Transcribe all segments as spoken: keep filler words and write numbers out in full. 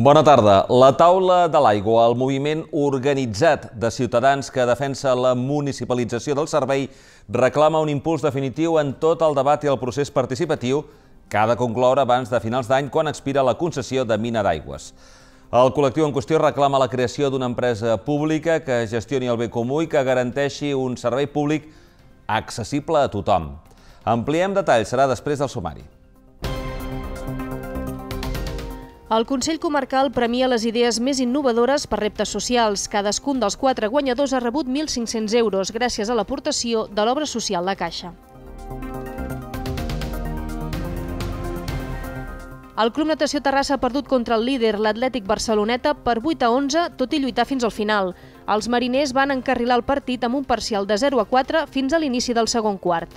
Bona tarda. La taula de l'aigua, el moviment organitzat de ciutadans que defensa la municipalització del servei, reclama un impuls definitiu en tot el debat i el procés participatiu que ha de concloure abans de finals d'any quan expira la concessió de mina d'aigües. El col·lectiu en qüestió reclama la creació d'una empresa pública que gestioni el bé comú i que garanteixi un servei públic accessible a tothom. Ampliem detalls, serà després del sumari. El Consell Comarcal premia les idees més innovadores per reptes socials. Cadascun dels quatre guanyadors ha rebut mil cinc-cents euros gràcies a l'aportació de l'obra social La Caixa. El Club Natació Terrassa ha perdut contra el líder, l'Atlètic Barceloneta, per vuit a onze, tot i lluitar fins al final. Els mariners van encarrilar el partit amb un parcial de zero a quatre fins a l'inici del segon quart.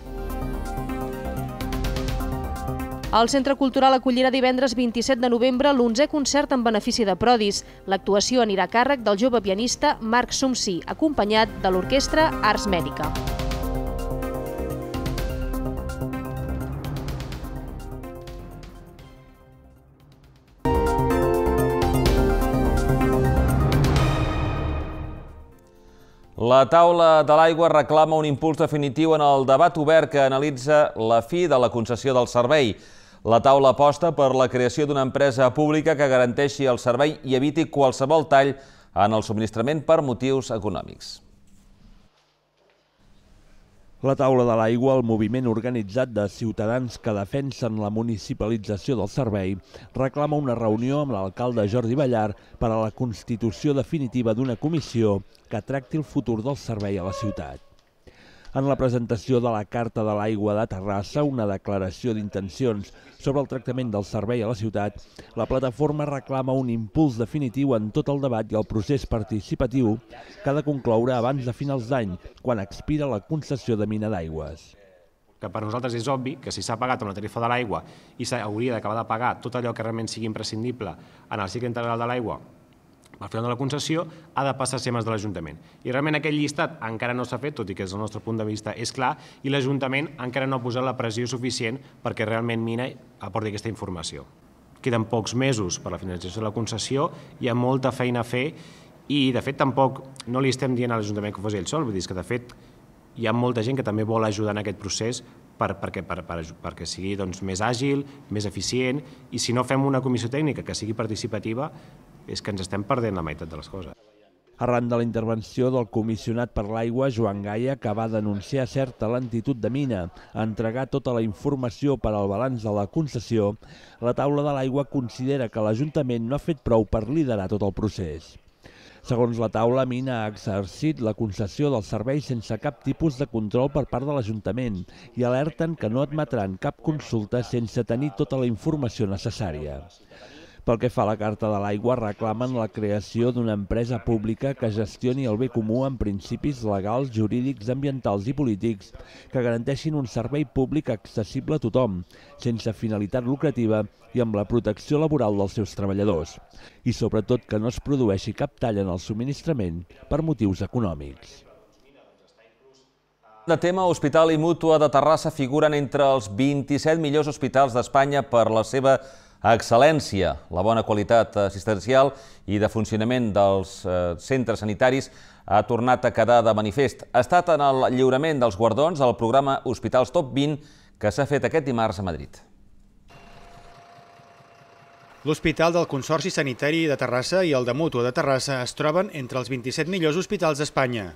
El Centre Cultural acollirà divendres vint-i-set de novembre l'onzè concert en benefici de Prodis. L'actuació anirà a càrrec del jove pianista Marc Sumsí, acompanyat de l'orquestra Ars Mèdica. La taula de l'aigua reclama un impuls definitiu en el debat obert que analitza la fi de la concessió del servei. La taula aposta per la creació d'una empresa pública que garanteixi el servei i eviti qualsevol tall en el subministrament per motius econòmics. La taula de l'aigua, el moviment organitzat de ciutadans que defensen la municipalització del servei, reclama una reunió amb l'alcalde Jordi Ballar per a la constitució definitiva d'una comissió que tracti el futur del servei a la ciutat. En la presentació de la Carta de l'Aigua de Terrassa, una declaració d'intencions sobre el tractament del servei a la ciutat, la plataforma reclama un impuls definitiu en tot el debat i el procés participatiu que ha de concloure abans de finals d'any, quan expira la concessió de mina d'aigües. Que per nosaltres és obvi que si s'ha pagat amb la tarifa de l'aigua i s'hauria d'acabar de pagar tot allò que realment sigui imprescindible en el cicle integral de l'aigua al final de la concessió, ha de passar a ser mans de l'Ajuntament. I realment aquest llistat encara no s'ha fet, tot i que des del nostre punt de vista és clar, i l'Ajuntament encara no ha posat la pressió suficient perquè realment Mina aporti aquesta informació. Queden pocs mesos per la finalització de la concessió, hi ha molta feina a fer i, de fet, tampoc no li estem dient a l'Ajuntament que ho faci ell sol, vull dir que, de fet, hi ha molta gent que també vol ajudar en aquest procés per, perquè, per, per, perquè sigui doncs, més àgil, més eficient, i si no fem una comissió tècnica que sigui participativa, és que ens estem perdent la meitat de les coses. Arran de la intervenció del comissionat per l'aigua, Joan Gaia, que va denunciar certa lentitud de Mina a entregar tota la informació per al balanç de la concessió, la taula de l'aigua considera que l'Ajuntament no ha fet prou per liderar tot el procés. Segons la taula, Mina ha exercit la concessió del servei sense cap tipus de control per part de l'Ajuntament i alerten que no admetran cap consulta sense tenir tota la informació necessària. Pel que fa a la Carta de l'Aigua, reclamen la creació d'una empresa pública que gestioni el bé comú amb principis legals, jurídics, ambientals i polítics que garanteixin un servei públic accessible a tothom, sense finalitat lucrativa i amb la protecció laboral dels seus treballadors. I sobretot que no es produeixi cap tall en el subministrament per motius econòmics. De tema, Hospital i Mútua de Terrassa figuren entre els vint-i-set millors hospitals d'Espanya per la seva excel·lència, la bona qualitat assistencial i de funcionament dels centres sanitaris ha tornat a quedar de manifest. Ha estat en el lliurament dels guardons del programa Hospitals Top vint que s'ha fet aquest dimarts a Madrid. L'Hospital del Consorci Sanitari de Terrassa i el de Mútua de Terrassa es troben entre els vint-i-set millors hospitals d'Espanya.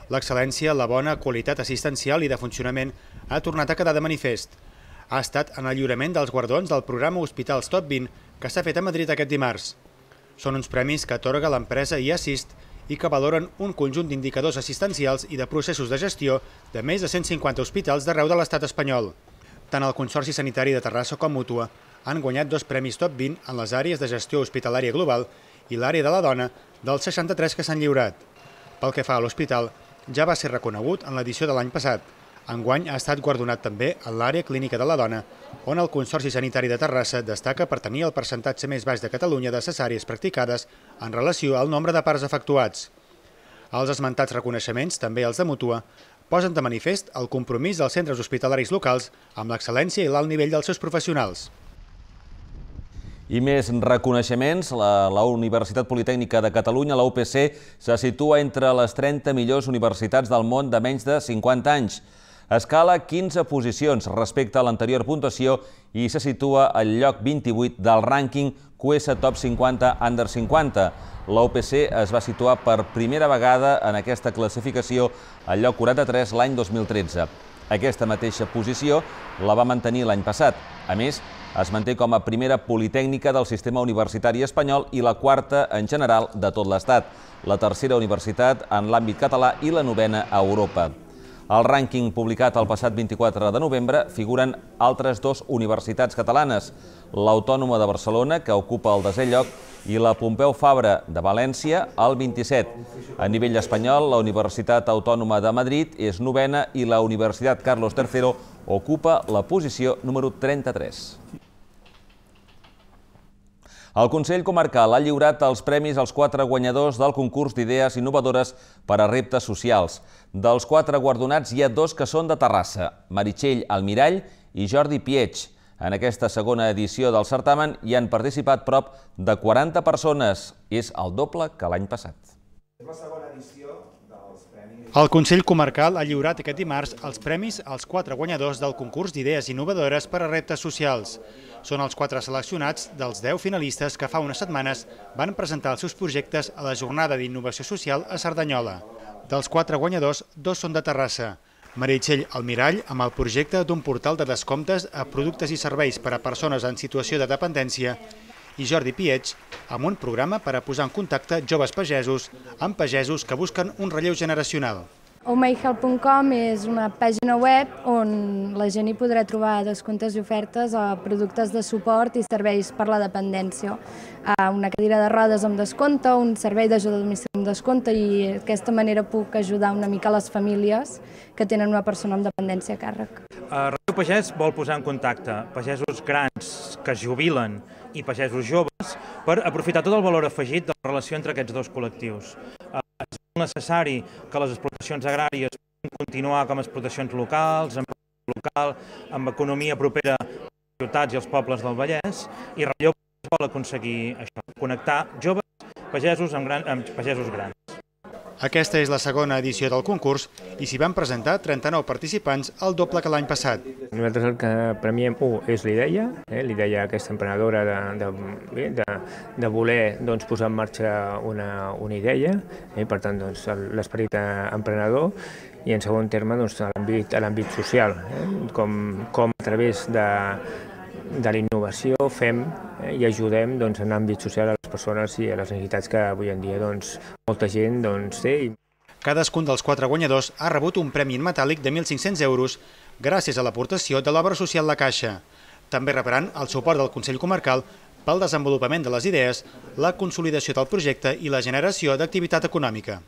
L'excel·lència, la bona qualitat assistencial i de funcionament ha tornat a quedar de manifest. Ha estat en el lliurament dels guardons del programa Hospitals Top vint que s'ha fet a Madrid aquest dimarts. Són uns premis que atorga l'empresa iAssist i que valoren un conjunt d'indicadors assistencials i de processos de gestió de més de cent cinquanta hospitals d'arreu de l'estat espanyol. Tant el Consorci Sanitari de Terrassa com Mútua han guanyat dos premis Top vint en les àrees de gestió hospitalària global i l'àrea de la dona dels seixanta-tres que s'han lliurat. Pel que fa a l'hospital, ja va ser reconegut en l'edició de l'any passat. Enguany ha estat guardonat també en l'àrea clínica de la dona, on el Consorci Sanitari de Terrassa destaca per tenir el percentatge més baix de Catalunya de cesàries practicades en relació al nombre de parts efectuats. Els esmentats reconeixements, també els de Mútua, posen de manifest el compromís dels centres hospitalaris locals amb l'excel·lència i l'alt nivell dels seus professionals. I més reconeixements, la, la Universitat Politècnica de Catalunya, la U P C, se situa entre les trenta millors universitats del món de menys de cinquanta anys. Escala quinze posicions respecte a l'anterior puntuació i se situa al lloc vint-i-vuit del rànquing Q S Top cinquanta Under cinquanta. La U P C es va situar per primera vegada en aquesta classificació al lloc quaranta-tres l'any dos mil tretze. Aquesta mateixa posició la va mantenir l'any passat. A més, es manté com a primera politècnica del sistema universitari espanyol i la quarta en general de tot l'Estat, la tercera universitat en l'àmbit català i la novena a Europa. Al rànquing publicat el passat vint-i-quatre de novembre figuren altres dues universitats catalanes, l'Autònoma de Barcelona, que ocupa el desè lloc, i la Pompeu Fabra de València, al vint-i-set. A nivell espanyol, la Universitat Autònoma de Madrid és novena i la Universitat Carlos tercero ocupa la posició número trenta-tres. El Consell Comarcal ha lliurat els premis als quatre guanyadors del concurs d'idees innovadores per a reptes socials. Dels quatre guardonats hi ha dos que són de Terrassa, Meritxell Almirall i Jordi Pietx. En aquesta segona edició del certamen hi han participat prop de quaranta persones. És el doble que l'any passat. El Consell Comarcal ha lliurat aquest dimarts els premis als quatre guanyadors del concurs d'idees innovadores per a reptes socials. Són els quatre seleccionats dels deu finalistes que fa unes setmanes van presentar els seus projectes a la Jornada d'Innovació Social a Cerdanyola. Dels quatre guanyadors, dos són de Terrassa. Meritxell Almirall, amb el projecte d'un portal de descomptes a productes i serveis per a persones en situació de dependència, i Jordi Pietx, amb un programa per a posar en contacte joves pagesos amb pagesos que busquen un relleu generacional. Oh my help punt com és una pàgina web on la gent hi podrà trobar descomptes i ofertes a productes de suport i serveis per la dependència. Una cadira de rodes amb descompte, un servei d'ajuda a domicili amb descompte, i d'aquesta manera puc ajudar una mica les famílies que tenen una persona amb dependència a càrrec. Relleu Pagès vol posar en contacte pagesos grans que es jubilen i pagesos joves per aprofitar tot el valor afegit de la relació entre aquests dos col·lectius. És necessari que les explotacions agràries puguin continuar com a explotacions locals, amb local, amb economia propera a les ciutats i als pobles del Vallès, i Relleu vol aconseguir això, connectar joves pagesos amb, gran, amb pagesos grans. Aquesta és la segona edició del concurs i s'hi van presentar trenta-nou participants, el doble que l'any passat. Nosaltres el que premiem, un, és l'idea, eh, l'idea aquesta emprenedora de, de, de, de voler doncs, posar en marxa una, una idea, eh, per tant doncs, l'esperit emprenedor, i en segon terme doncs, a l'àmbit social, eh, com, com a través de de la innovació fem eh, i ajudem doncs, en l'àmbit social a les persones i a les necessitats que avui en dia doncs, molta gent doncs, té. Cadascun dels quatre guanyadors ha rebut un premi en metàl·lic de mil cinc-cents euros gràcies a l'aportació de l'obra social La Caixa. També rebran el suport del Consell Comarcal pel desenvolupament de les idees, la consolidació del projecte i la generació d'activitat econòmica.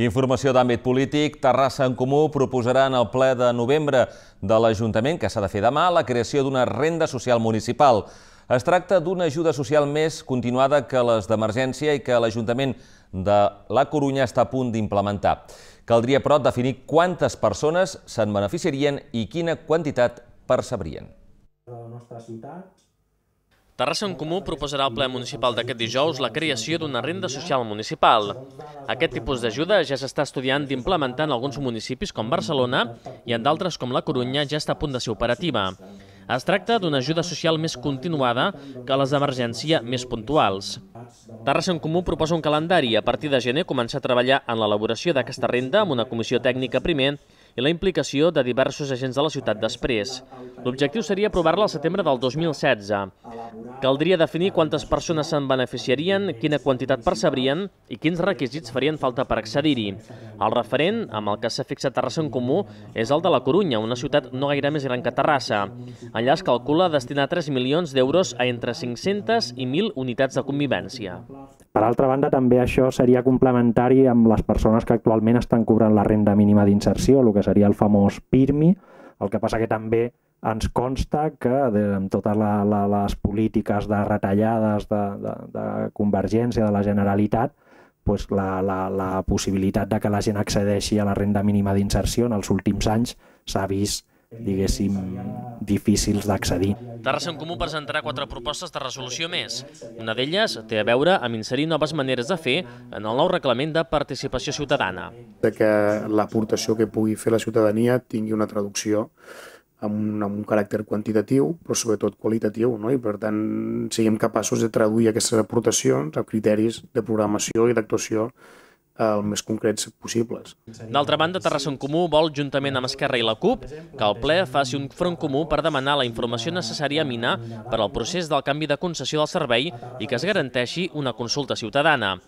Informació d'àmbit polític. Terrassa en Comú proposarà en el ple de novembre de l'Ajuntament, que s'ha de fer demà, la creació d'una renda social municipal. Es tracta d'una ajuda social més continuada que les d'emergència i que l'Ajuntament de La Corunya està a punt d'implementar. Caldria, però, definir quantes persones se'n beneficiarien i quina quantitat percebrien. Terrassa en Comú proposarà al ple municipal d'aquest dijous la creació d'una renda social municipal. Aquest tipus d'ajuda ja s'està estudiant d'implementar en alguns municipis com Barcelona i en d'altres com La Corunya ja està a punt de ser operativa. Es tracta d'una ajuda social més continuada que les d'emergència més puntuals. Terrassa en Comú proposa un calendari i a partir de gener començar a treballar en l'elaboració d'aquesta renda amb una comissió tècnica primer i la implicació de diversos agents de la ciutat després. L'objectiu seria aprovar-la al setembre del dos mil setze. Caldria definir quantes persones se'n beneficiarien, quina quantitat percebrien i quins requisits farien falta per accedir-hi. El referent, amb el que s'ha fixat Terrassa en Comú, és el de La Corunya, una ciutat no gaire més gran que Terrassa. Allà es calcula destinar tres milions d'euros a entre cinc-centes i mil unitats de convivència. Per altra banda, també això seria complementari amb les persones que actualment estan cobrant la renda mínima d'inserció, el que seria el famós PIRMI, el que passa que també ens consta que amb totes la, la, les polítiques de retallades de, de, de convergència de la Generalitat, doncs la, la, la possibilitat de que la gent accedeixi a la renda mínima d'inserció en els últims anys s'ha vist, diguéssim, difícils d'accedir. Terrassa en Comú presentarà quatre propostes de resolució més. Una d'elles té a veure amb inserir noves maneres de fer en el nou reglament de participació ciutadana. De que l'aportació que pugui fer la ciutadania tingui una traducció amb un, amb un caràcter quantitatiu, però sobretot qualitatiu, no? I per tant siguem capaços de traduir aquestes aportacions a criteris de programació i d'actuació el més concrets possibles. D'altra banda, Terrassa en Comú vol, juntament amb Esquerra i la CUP, que el ple faci un front comú per demanar la informació necessària a Mina per al procés del canvi de concessió del servei i que es garanteixi una consulta ciutadana.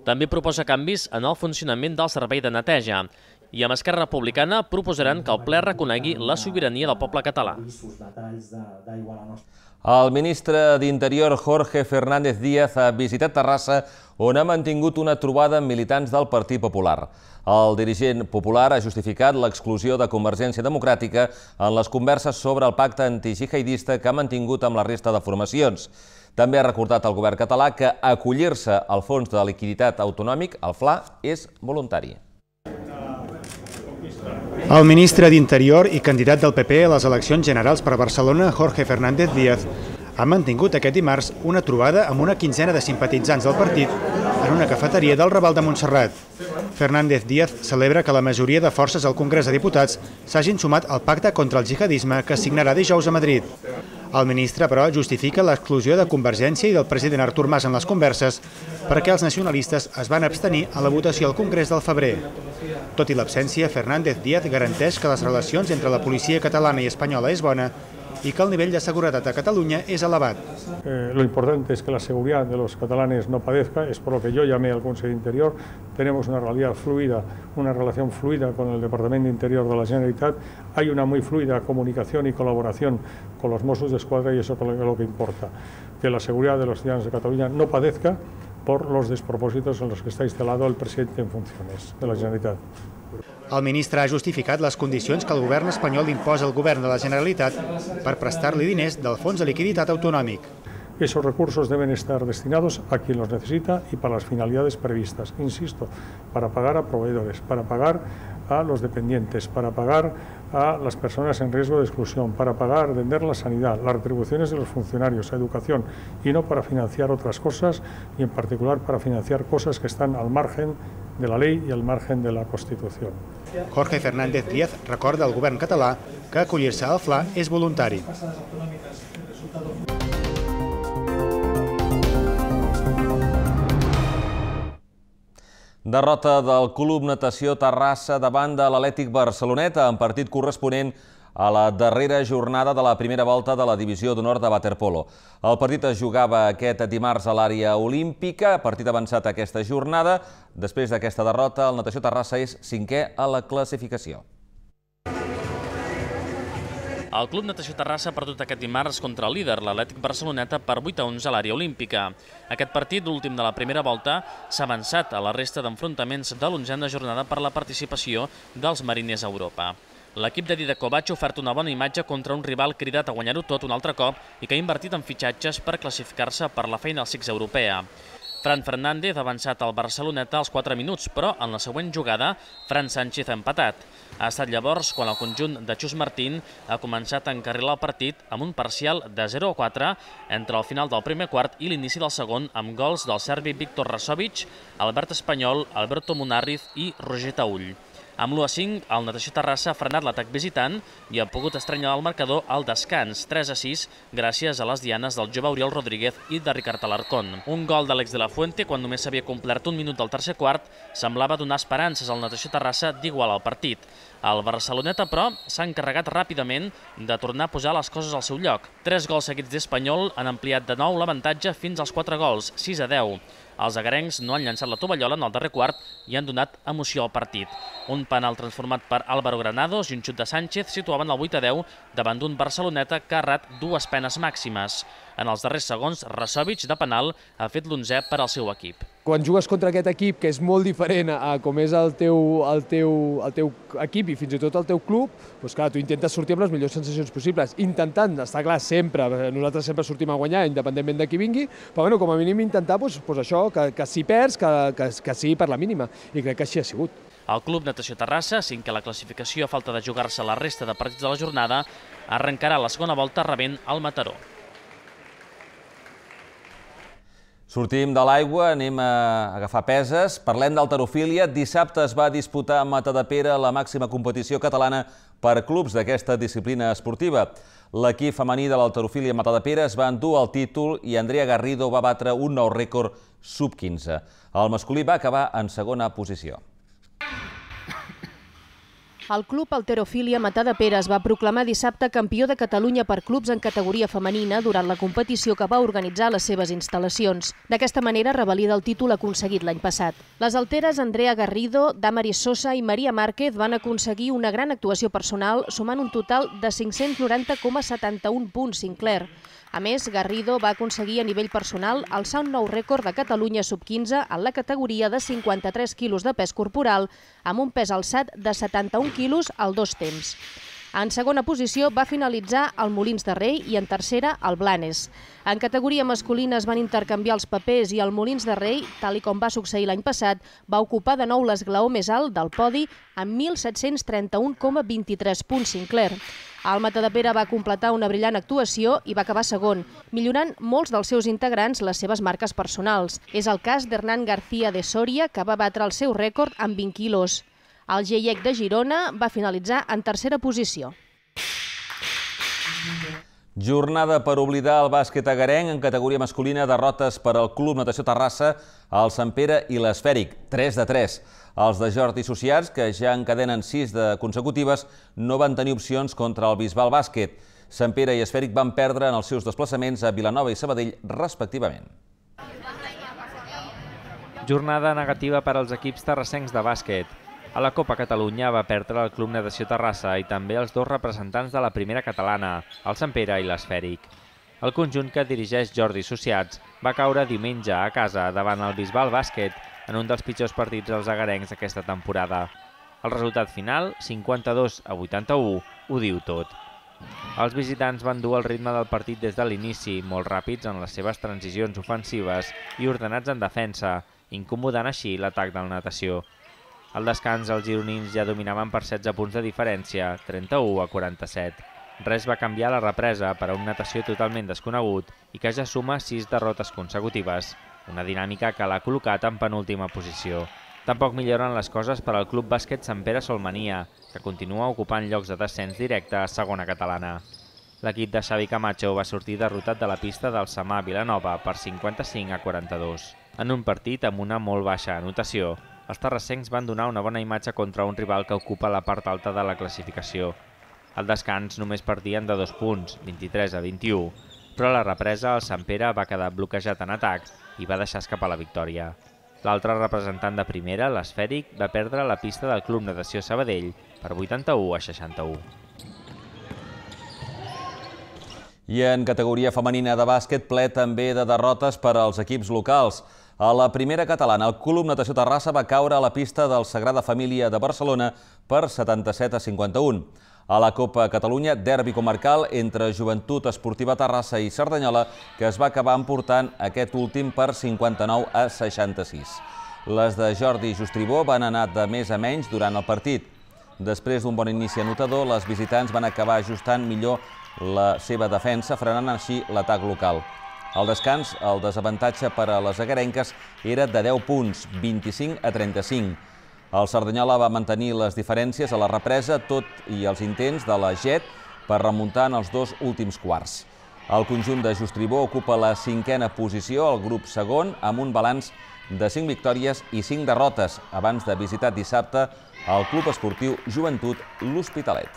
També proposa canvis en el funcionament del servei de neteja. I amb Esquerra Republicana proposaran que el ple reconegui la sobirania del poble català. El ministre d'Interior, Jorge Fernández Díaz, ha visitat Terrassa, on ha mantingut una trobada amb militants del Partit Popular. El dirigent popular ha justificat l'exclusió de Convergència Democràtica en les converses sobre el pacte antigihadista que ha mantingut amb la resta de formacions. També ha recordat al govern català que acollir-se al Fons de Liquiditat Autonòmic, el F L A, és voluntari. El ministre d'Interior i candidat del P P a les eleccions generals per Barcelona, Jorge Fernández Díaz, ha mantingut aquest dimarts una trobada amb una quinzena de simpatitzants del partit en una cafeteria del Raval de Montserrat. Fernández Díaz celebra que la majoria de forces al Congrés de Diputats s'hagin sumat al pacte contra el jihadisme que signarà dijous a Madrid. El ministre, però, justifica l'exclusió de Convergència i del president Artur Mas en les converses perquè els nacionalistes es van abstenir a la votació al Congrés del febrer. Tot i l'absència, Fernández Díaz garanteix que les relacions entre la policia catalana i espanyola és bona y que el nivel de seguridad a Cataluña es elevat. Eh, lo importante es que la seguridad de los catalanes no padezca, es por lo que yo llamé al Consejo de Interior. Tenemos una realidad fluida, una relación fluida con el Departamento de Interior de la Generalitat. Hay una muy fluida comunicación y colaboración con los Mossos d'Esquadra y eso es lo que importa, que la seguridad de los ciudadanos de Cataluña no padezca por los despropósitos en los que está instalado el presidente en funciones de la Generalitat. El ministre ha justificat les condicions que el govern espanyol imposa al govern de la Generalitat per prestar-li diners del Fons de Liquiditat Autonòmic. Esos recursos deben estar destinados a quien los necesita y para las finalidades previstas. Insisto, para pagar a proveedores, para pagar a los dependientes, para pagar a las personas en riesgo de exclusión, para pagar, atender la sanidad, las retribuciones de los funcionarios, a educación, y no para financiar otras cosas, y en particular para financiar cosas que están al margen de la ley y al margen de la Constitución. Jorge Fernández Díaz recorda al govern català que acollir-se al F L A és voluntari. Derrota del Club Natació Terrassa davant de l'Atlètic Barceloneta en partit corresponent a la darrera jornada de la primera volta de la Divisió d'Honor de waterpolo. El partit es jugava aquest dimarts a l'àrea olímpica, partit avançat aquesta jornada. Després d'aquesta derrota, el Natació Terrassa és cinquè a la classificació. El Club Natació Terrassa ha perdut aquest dimarts contra el líder, l'Atlètic Barceloneta, per vuit a onze a l'àrea olímpica. Aquest partit, l'últim de la primera volta, s'ha avançat a la resta d'enfrontaments de l'onzena jornada per la participació dels mariners a Europa. L'equip de Didac Kovac ha ofert una bona imatge contra un rival cridat a guanyar-ho tot un altre cop i que ha invertit en fitxatges per classificar-se per la Final Six europea. Fran Fernández ha avançat al Barceloneta als quatre minuts, però en la següent jugada, Fran Sánchez ha empatat. Ha estat llavors quan el conjunt de Xus Martín ha començat a encarrilar el partit amb un parcial de zero a quatre entre el final del primer quart i l'inici del segon amb gols del serbi Víctor Rasovic, Albert Espanyol, Alberto Munarriz i Roger Taüll. Amb l'u a cinc, el Natació Terrassa ha frenat l'atac visitant i ha pogut estrenyar el marcador al descans, tres a sis, gràcies a les dianes del jove Oriol Rodríguez i de Ricard Alarcón. Un gol d'Àlex de la Fuente, quan només s'havia complert un minut del tercer quart, semblava donar esperances al Natació Terrassa d'igualar el partit. El Barceloneta, però, s'ha encarregat ràpidament de tornar a posar les coses al seu lloc. Tres gols seguits d'Espanyol han ampliat de nou l'avantatge fins als quatre gols, sis a deu. Els agarencs no han llançat la tovallola en el darrer quart i han donat emoció al partit. Un penal transformat per Álvaro Granados i un xut de Sánchez situaven el vuit a deu davant d'un Barceloneta que ha errat dues penes màximes. En els darrers segons, Rasovic, de penal, ha fet l'onzè per al seu equip. quan jugues contra aquest equip, que és molt diferent a com és el teu, el teu, el teu equip i fins i tot el teu club, doncs clar, tu intentes sortir amb les millors sensacions possibles, intentant, està clar, sempre, nosaltres sempre sortim a guanyar, independentment de qui vingui, però bueno, com a mínim intentar doncs, doncs això, que, que si perds, que, que, que sigui per la mínima, i crec que així ha sigut. El Club Natació Terrassa, cinquè a la classificació a falta de jugar-se la resta de partits de la jornada, arrencarà la segona volta rebent el Mataró. Sortim de l'aigua, anem a agafar peses. Parlem d'halterofília. Dissabte es va disputar a Matadepera la màxima competició catalana per clubs d'aquesta disciplina esportiva. L'equip femení de l'halterofília Matadepera es va endur el títol i Andrea Garrido va batre un nou rècord sub quinze. El masculí va acabar en segona posició. El Club Halterofília Matadepera es va proclamar dissabte campió de Catalunya per clubs en categoria femenina durant la competició que va organitzar a les seves instal·lacions. D'aquesta manera revalida el títol aconseguit l'any passat. Les halteres Andrea Garrido, Damaris Sosa i Maria Márquez van aconseguir una gran actuació personal, sumant un total de cinc-cents noranta coma setanta-un punts, Sinclair. A més, Garrido va aconseguir a nivell personal alçar un nou rècord de Catalunya sub quinze en la categoria de cinquanta-tres quilos de pes corporal, amb un pes alçat de setanta-un quilos al dos temps. En segona posició va finalitzar el Molins de Rei i en tercera el Blanes. En categoria masculina es van intercanviar els papers i el Molins de Rei, tal i com va succeir l'any passat, va ocupar de nou l'esglaó més alt del podi amb mil set-cents trenta-un coma vint-i-tres punts, Sinclair. El Matadepera va completar una brillant actuació i va acabar segon, millorant molts dels seus integrants les seves marques personals. És el cas d'Hernán García de Soria, que va batre el seu rècord amb vint quilos. El G I E C de Girona va finalitzar en tercera posició. Jornada per oblidar el bàsquet agarenc en categoria masculina, derrotes per al Club Natació Terrassa, el Sant Pere i l'Esfèric, tres de tres. Els de Jordi Associats, que ja encadenen sis de consecutives, no van tenir opcions contra el Bisbal Bàsquet. Sant Pere i Esfèric van perdre en els seus desplaçaments a Vilanova i Sabadell, respectivament. Jornada negativa per als equips terrassencs de bàsquet. A la Copa Catalunya va perdre el Club Natació Terrassa i també els dos representants de la primera catalana, el Sant Pere i l'Esfèric. El conjunt que dirigeix Jordi Associats va caure diumenge a casa davant el Bisbal Bàsquet en un dels pitjors partits dels agarencs aquesta temporada. El resultat final, cinquanta-dos a vuitanta-u, ho diu tot. Els visitants van dur el ritme del partit des de l'inici, molt ràpids en les seves transicions ofensives i ordenats en defensa, incomodant així l'atac del Natació. Al descans, els gironins ja dominaven per setze punts de diferència, trenta-u a quaranta-set. Res va canviar a la represa per a un Natació totalment desconegut i que ja suma sis derrotes consecutives, una dinàmica que l'ha col·locat en penúltima posició. Tampoc milloren les coses per al Club Bàsquet Sant Pere Solmania, que continua ocupant llocs de descens directe a segona catalana. L'equip de Xavi Camacho va sortir derrotat de la pista del Samà Vilanova per cinquanta-cinc a quaranta-dos. En un partit amb una molt baixa anotació, els terrassencs van donar una bona imatge contra un rival que ocupa la part alta de la classificació. Al descans només perdien de dos punts, vint-i-tres a vint-i-u, però a la represa el Sant Pere va quedar bloquejat en atac i va deixar escapar la victòria. L'altre representant de primera, l'Esfèric, va perdre la pista del Club Natació Sabadell per vuitanta-u a seixanta-u. I en categoria femenina de bàsquet, ple també de derrotes per als equips locals. A la primera catalana, el Club Natació Terrassa va caure a la pista del Sagrada Família de Barcelona per setanta-set a cinquanta-un. A la Copa Catalunya, derbi comarcal entre Joventut Esportiva Terrassa i Cerdanyola, que es va acabar emportant aquest últim per cinquanta-nou a seixanta-sis. Les de Jordi Justribó van anar de més a menys durant el partit. Després d'un bon inici anotador, les visitants van acabar ajustant millor la seva defensa, frenant així l'atac local. Al descans, el desavantatge per a les agarenques era de deu punts, vint-i-cinc a trenta-cinc. El Cerdanyola va mantenir les diferències a la represa, tot i els intents de la Jet per remuntar en els dos últims quarts. El conjunt de Justribó ocupa la cinquena posició al grup segon, amb un balanç de cinc victòries i cinc derrotes, abans de visitar dissabte el Club Esportiu Joventut l'Hospitalet.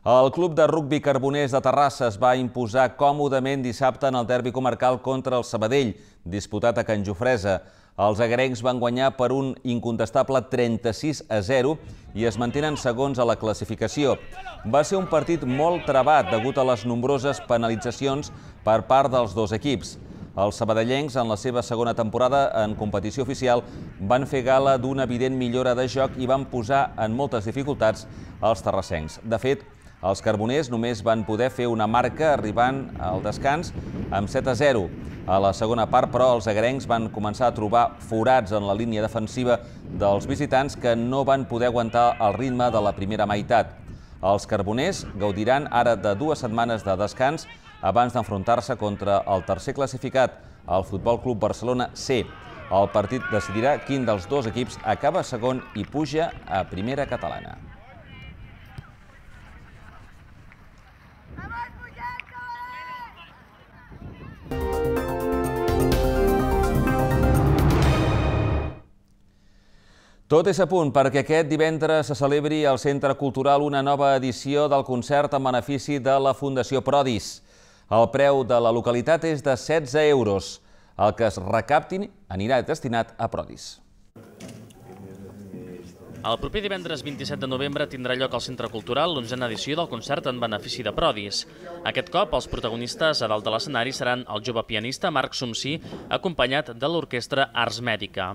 El Club de Rugbi Carboners de Terrassa es va imposar còmodament dissabte en el derbi comarcal contra el Sabadell, disputat a Can Jofresa. Els agarencs van guanyar per un incontestable trenta-sis a zero i es mantenen segons a la classificació. Va ser un partit molt trebat degut a les nombroses penalitzacions per part dels dos equips. Els sabadellencs, en la seva segona temporada en competició oficial, van fer gala d'una evident millora de joc i van posar en moltes dificultats els terrassencs. De fet, els carboners només van poder fer una marca arribant al descans amb set a zero. A la segona part, però, els agrencs van començar a trobar forats en la línia defensiva dels visitants que no van poder aguantar el ritme de la primera meitat. Els carboners gaudiran ara de dues setmanes de descans abans d'enfrontar-se contra el tercer classificat, el Futbol Club Barcelona C. El partit decidirà quin dels dos equips acaba segon i puja a primera catalana. Tot és a punt perquè aquest divendres se celebri al Centre Cultural una nova edició del concert en benefici de la Fundació Prodis. El preu de la localitat és de setze euros. El que es recapti anirà destinat a Prodis. El proper divendres vint-i-set de novembre tindrà lloc al Centre Cultural l'onzena edició del concert en benefici de Prodis. Aquest cop, els protagonistes a dalt de l'escenari seran el jove pianista Marc Sumsí, acompanyat de l'orquestra Ars Mèdica.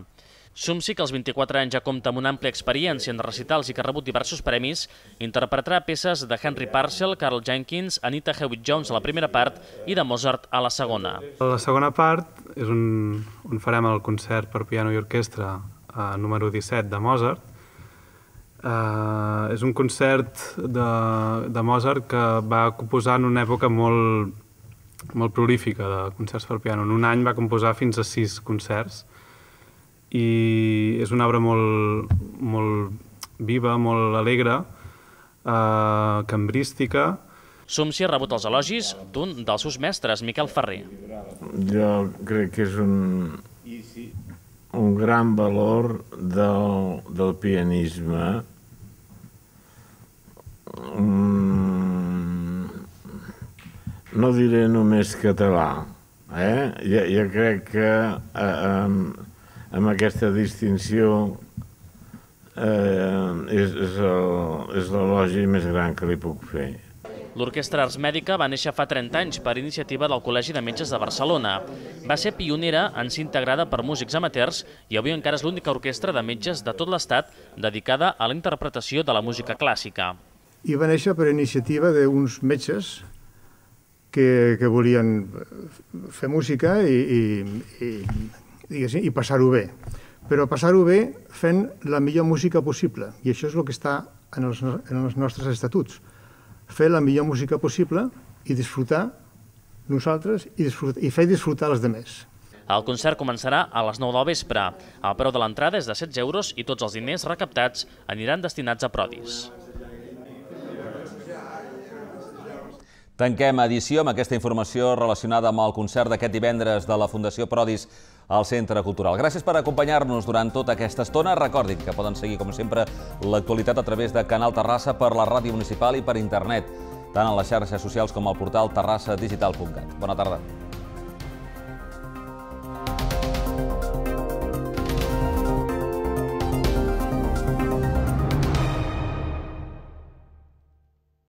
Sumsí, que als vint-i-quatre anys ja compta amb una àmplia experiència en recitals i que ha rebut diversos premis, interpretarà peces de Henry Purcell, Carl Jenkins, Anita Hewitt-Jones a la primera part i de Mozart a la segona. La segona part és on, on farem el concert per piano i orquestra eh, número disset de Mozart. Eh, és un concert de, de Mozart que va composar en una època molt, molt prolífica de concerts per piano. En un any va composar fins a sis concerts. I és una obra molt, molt viva, molt alegre, eh, cambrística. Sumsí ha rebut els elogis d'un dels seus mestres, Miquel Ferrer. Jo crec que és un, un gran valor del, del pianisme. Mm, no diré només català, eh? Jo, jo crec que eh, amb aquesta distinció eh, és, és l'elogi més gran que li puc fer. L'Orquestra Ars Mèdica va néixer fa trenta anys per iniciativa del Col·legi de Metges de Barcelona. Va ser pionera en ser integrada per músics amateurs i avui encara és l'única orquestra de metges de tot l'Estat dedicada a la interpretació de la música clàssica. I va néixer per iniciativa d'uns metges que, que volien fer música i, i, i, i passar-ho bé. Però passar-ho bé fent la millor música possible. I això és el que està en els, en els nostres estatuts. Fer la millor música possible i disfrutar nosaltres i, disfrutar, i fer disfrutar els altres. El concert començarà a les nou del vespre. El preu de l'entrada és de setze euros i tots els diners recaptats aniran destinats a Prodis. Tanquem edició amb aquesta informació relacionada amb el concert d'aquest divendres de la Fundació Prodis al Centre Cultural. Gràcies per acompanyar-nos durant tota aquesta estona. Recordin que poden seguir, com sempre, l'actualitat a través de Canal Terrassa per la ràdio municipal i per internet, tant a les xarxes socials com al portal terrassa digital punt cat. Bona tarda.